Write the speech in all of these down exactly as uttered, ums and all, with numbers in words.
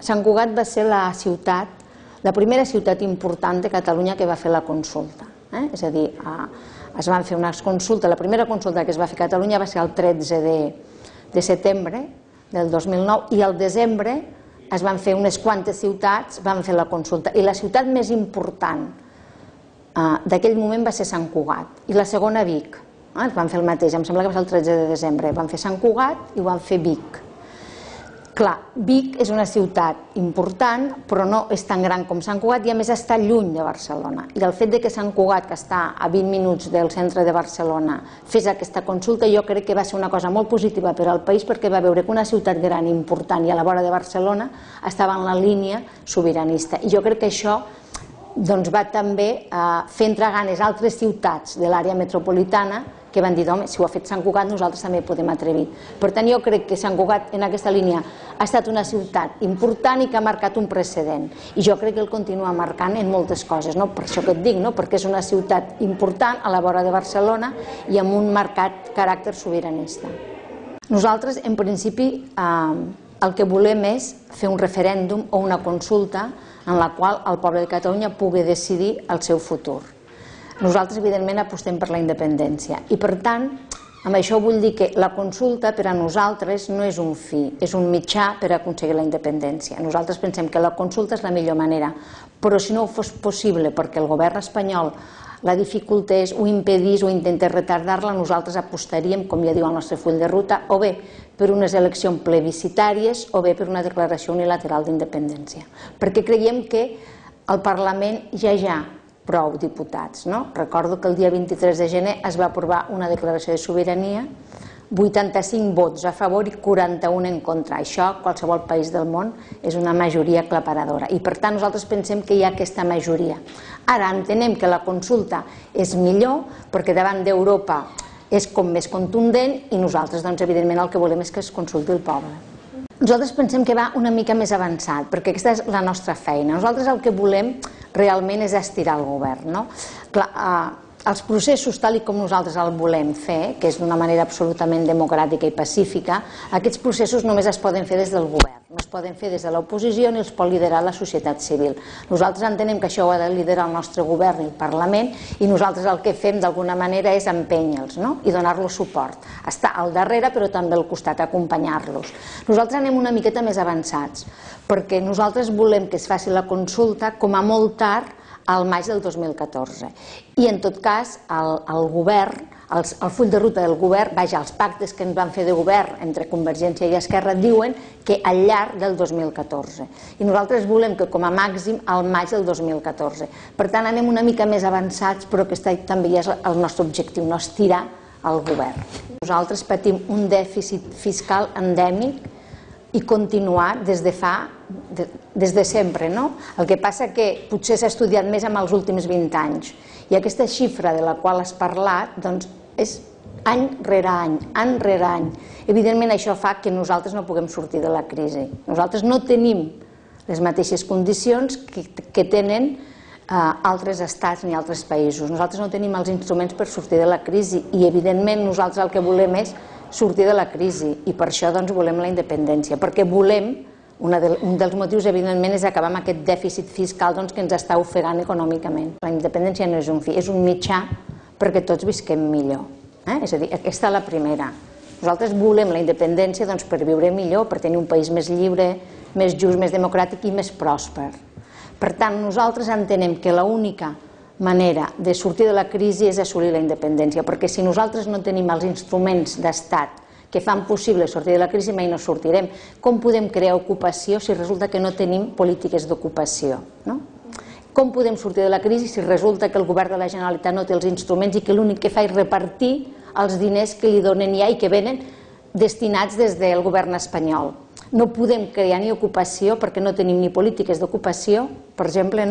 Sant Cugat va ser la ciutat, la primera ciutat important de Catalunya que va fer la consulta. Eh? És a dir, es van fer unes consultes, la primera consulta que es va fer a Catalunya va ser el tretze de setembre del dos mil nou i al desembre es van fer unes quantes ciutats, van fer la consulta. I la ciutat més important d'aquell moment va ser Sant Cugat i la segona Vic. Es van fer el mateix, em sembla que va ser el tretze de desembre. Van fer Sant Cugat i van fer Vic. Clar, Vic és una ciutat important, però no és tan gran com Sant Cugat i a més està lluny de Barcelona. I el fet que Sant Cugat, que està a vint minuts del centre de Barcelona, fes aquesta consulta, jo crec que va ser una cosa molt positiva per al país perquè va veure que una ciutat gran, important i a la vora de Barcelona estava en la línia sobiranista. I jo crec que això va també fer entrar ganes a altres ciutats de l'àrea metropolitana que van dir, home, si ho ha fet Sant Cugat, nosaltres també podem atrevir. Per tant, jo crec que Sant Cugat en aquesta línia ha estat una ciutat important i que ha marcat un precedent. I jo crec que el continua marcant en moltes coses, per això que et dic, perquè és una ciutat important a la vora de Barcelona i amb un marcat caràcter sobiranista. Nosaltres, en principi, el que volem és fer un referèndum o una consulta en la qual el poble de Catalunya pugui decidir el seu futur. Nosaltres, evidentment, apostem per la independència i, per tant, amb això vull dir que la consulta per a nosaltres no és un fi, és un mitjà per aconseguir la independència. Nosaltres pensem que la consulta és la millor manera, però si no fos possible perquè el govern espanyol la dificultés, ho impedís o intentés retardar-la, nosaltres apostaríem, com ja diu el nostre full de ruta, o bé per unes eleccions plebiscitàries o bé per una declaració unilateral d'independència. Perquè creiem que al Parlament ja hi ha prou diputats. Recordo que el dia vint-i-tres de gener es va aprovar una declaració de sobirania, vuitanta-cinc vots a favor i quaranta-un en contra. Això, a qualsevol país del món, és una majoria aclaparadora. I per tant nosaltres pensem que hi ha aquesta majoria. Ara entenem que la consulta és millor perquè davant d'Europa és com més contundent i nosaltres, doncs, evidentment, el que volem és que es consulti el poble. Nosaltres pensem que va una mica més avançat, perquè aquesta és la nostra feina. Nosaltres el que volem realment és estirar el govern. Els processos, tal com nosaltres el volem fer, que és d'una manera absolutament democràtica i pacífica, aquests processos només es poden fer des del govern, no es poden fer des de l'oposició ni els pot liderar la societat civil. Nosaltres entenem que això ho ha de liderar el nostre govern i el Parlament i nosaltres el que fem d'alguna manera és empènyer-los i donar-los suport. Estar al darrere però també al costat, acompanyar-los. Nosaltres anem una miqueta més avançats perquè nosaltres volem que es faci la consulta com a molt tard al maig del dos mil catorze. I en tot cas, el govern, el full de ruta del govern, vaja, els pactes que ens van fer de govern entre Convergència i Esquerra diuen que al llarg del dos mil catorze. I nosaltres volem que com a màxim al maig del dos mil catorze. Per tant, anem una mica més avançats, però aquest també és el nostre objectiu, no estirar el govern. Nosaltres patim un dèficit fiscal endèmic i continuar des de fa, des de sempre, no? El que passa que potser s'ha estudiat més en els últims vint anys i aquesta xifra de la qual has parlat, doncs, és any rere any, any rere any. Evidentment això fa que nosaltres no puguem sortir de la crisi. Nosaltres no tenim les mateixes condicions que tenen altres estats ni altres països. Nosaltres no tenim els instruments per sortir de la crisi i evidentment nosaltres el que volem és sortir de la crisi i per això volem la independència, perquè volem, un dels motius evidentment és acabar amb aquest dèficit fiscal que ens està ofegant econòmicament. La independència no és un fi, és un mitjà perquè tots visquem millor. És a dir, aquesta és la primera. Nosaltres volem la independència per viure millor, per tenir un país més lliure, més just, més democràtic i més pròsper. Per tant, nosaltres entenem que l'única manera de sortir de la crisi és assolir la independència, perquè si nosaltres no tenim els instruments d'estat que fan possible sortir de la crisi, mai no sortirem. Com podem crear ocupació si resulta que no tenim polítiques d'ocupació? Com podem sortir de la crisi si resulta que el govern de la Generalitat no té els instruments i que l'únic que fa és repartir els diners que li donen ja i que venen destinats des del govern espanyol? No podem crear ni ocupació perquè no tenim ni polítiques d'ocupació, per exemple,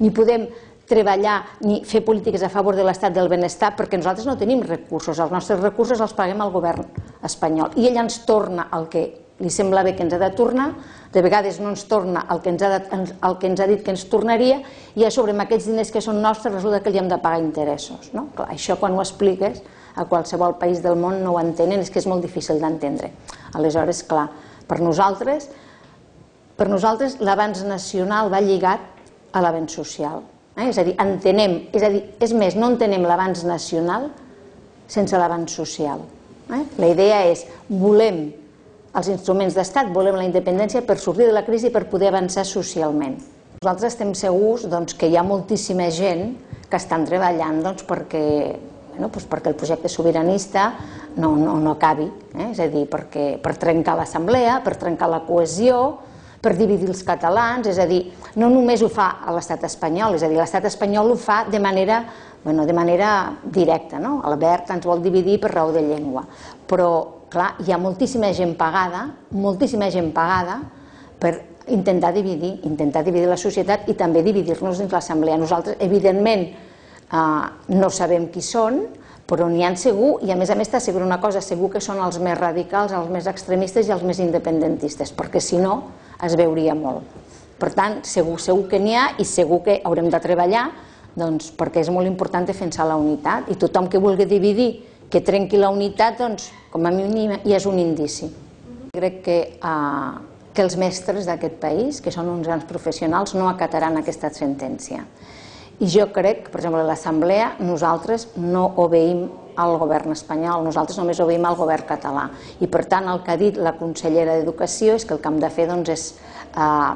ni podem treballar ni fer polítiques a favor de l'estat del benestar perquè nosaltres no tenim recursos, els nostres recursos els paguem al govern espanyol i ell ens torna el que li sembla bé que ens ha de tornar, de vegades no ens torna el que ens ha dit que ens tornaria i a sobre amb aquests diners que són nostres resulta que li hem de pagar interessos. Això quan ho expliques a qualsevol país del món no ho entenen, és que és molt difícil d'entendre. Aleshores, clar, per nosaltres Per nosaltres l'avanç nacional va lligat a l'avenç social. Eh? És a dir, entenem, és a dir, és més, no entenem l'avanç nacional sense l'avanç social. Eh? La idea és, volem els instruments d'estat, volem la independència per sortir de la crisi i per poder avançar socialment. Nosaltres estem segurs doncs, que hi ha moltíssima gent que estan treballant doncs, perquè, bueno, doncs perquè el projecte sobiranista no, no, no acabi, eh? És a dir, perquè, per trencar l'assemblea, per trencar la cohesió, per dividir els catalans, és a dir, no només ho fa a l'estat espanyol, és a dir, l'estat espanyol ho fa de manera, bueno, de manera directa, no? Albert ens vol dividir per raó de llengua, però, clar, hi ha moltíssima gent pagada, moltíssima gent pagada per intentar dividir, intentar dividir la societat i també dividir-nos dins l'assemblea. Nosaltres, evidentment, eh, no sabem qui són, però n'hi ha segur, i a més a més t'asseguro una cosa, segur que són els més radicals, els més extremistes i els més independentistes, perquè si no es veuria molt. Per tant, segur, segur que n'hi ha i segur que haurem de treballar doncs, perquè és molt important defensar la unitat i tothom que vulgui dividir, que trenqui la unitat, doncs, com a mínim ja és un indici. Crec que, eh, que els mestres d'aquest país, que són uns grans professionals, no acataran aquesta sentència. I jo crec que, per exemple, a l'Assemblea nosaltres no obeïm al govern espanyol, nosaltres només obeïm al govern català. I per tant el que ha dit la consellera d'Educació és que el que hem de fer doncs, és eh,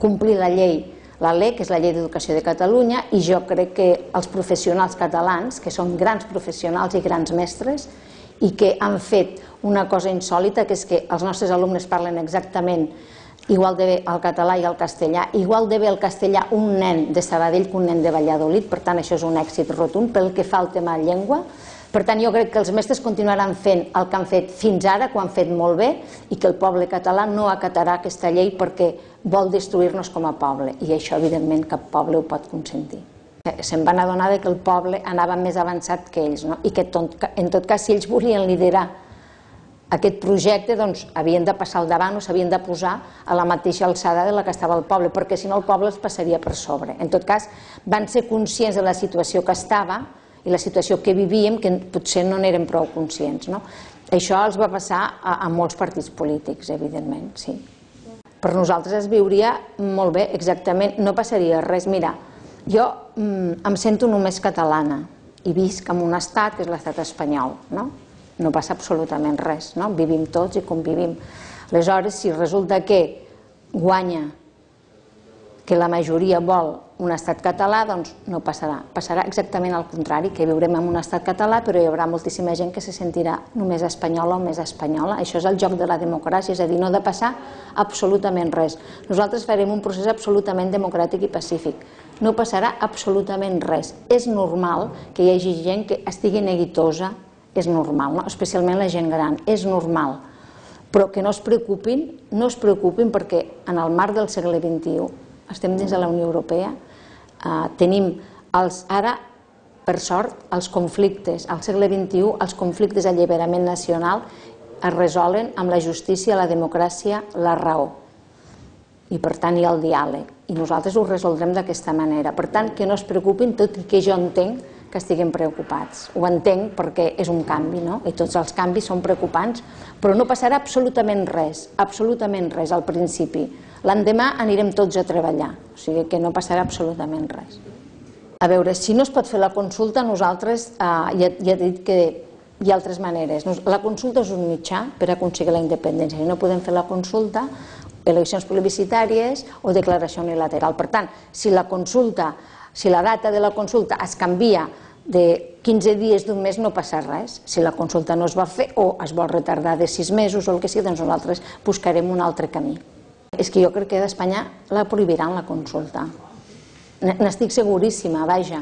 complir la llei, la L E C, que és la Llei d'Educació de Catalunya, i jo crec que els professionals catalans, que són grans professionals i grans mestres, i que han fet una cosa insòlita, que és que els nostres alumnes parlen exactament igual de bé el català i el castellà, igual de bé el castellà un nen de Sabadell que un nen de Valladolid, per tant això és un èxit rotund pel que fa al tema de llengua. Per tant jo crec que els mestres continuaran fent el que han fet fins ara, que ho han fet molt bé, i que el poble català no acatarà aquesta llei perquè vol destruir-nos com a poble, i això evidentment cap poble ho pot consentir. Se'n van adonar que el poble anava més avançat que ells, no? I que en tot cas si ells volien liderar aquest projecte doncs, havien de passar al davant o s'havien de posar a la mateixa alçada de la que estava el poble, perquè si no el poble els passaria per sobre. En tot cas, van ser conscients de la situació que estava i la situació que vivíem, que potser no n'érem prou conscients. No? Això els va passar a, a molts partits polítics, evidentment, sí. Per nosaltres es viuria molt bé, exactament, no passaria res. Mira, jo mm, em sento només catalana i visc en un estat que és l'estat espanyol, no? No passa absolutament res, no? Vivim tots i convivim. Aleshores, si resulta que guanya, que la majoria vol un estat català, doncs no passarà. Passarà exactament al contrari, que viurem en un estat català, però hi haurà moltíssima gent que se sentirà només espanyola o més espanyola. Això és el joc de la democràcia, és a dir, no ha de passar absolutament res. Nosaltres farem un procés absolutament democràtic i pacífic. No passarà absolutament res. És normal que hi hagi gent que estigui neguitosa, és normal, no? Especialment la gent gran, és normal, però que no es preocupin, no es preocupin perquè en el marc del segle vint-i-u estem dins de la Unió Europea, eh, tenim els, ara, per sort, els conflictes, al segle vint-i-u, els conflictes d'alliberament nacional es resolen amb la justícia, la democràcia, la raó. I per tant hi ha el diàleg, i nosaltres ho resoldrem d'aquesta manera. Per tant, que no es preocupin, tot i que jo entenc que estiguem preocupats. Ho entenc perquè és un canvi, no? I tots els canvis són preocupants, però no passarà absolutament res, absolutament res al principi. L'endemà anirem tots a treballar, o sigui que no passarà absolutament res. A veure, si no es pot fer la consulta, nosaltres, eh, ja, ja he dit que hi ha altres maneres. La consulta és un mitjà per aconseguir la independència. Si no podem fer la consulta, eleccions plebiscitàries o declaració unilateral. Per tant, si la consulta, si la data de la consulta es canvia de quinze dies d'un mes, no passa res. Si la consulta no es va fer o es vol retardar de sis mesos o el que sigui, doncs nosaltres buscarem un altre camí. És que jo crec que d'Espanya la prohibiran la consulta. N'estic seguríssima, vaja.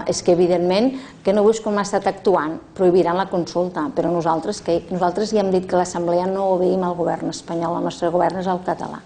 És que evidentment que no veus com ha estat actuant, prohibiran la consulta, però nosaltres ja hem dit que l'Assemblea no obeïm al govern espanyol, el nostre govern és el català.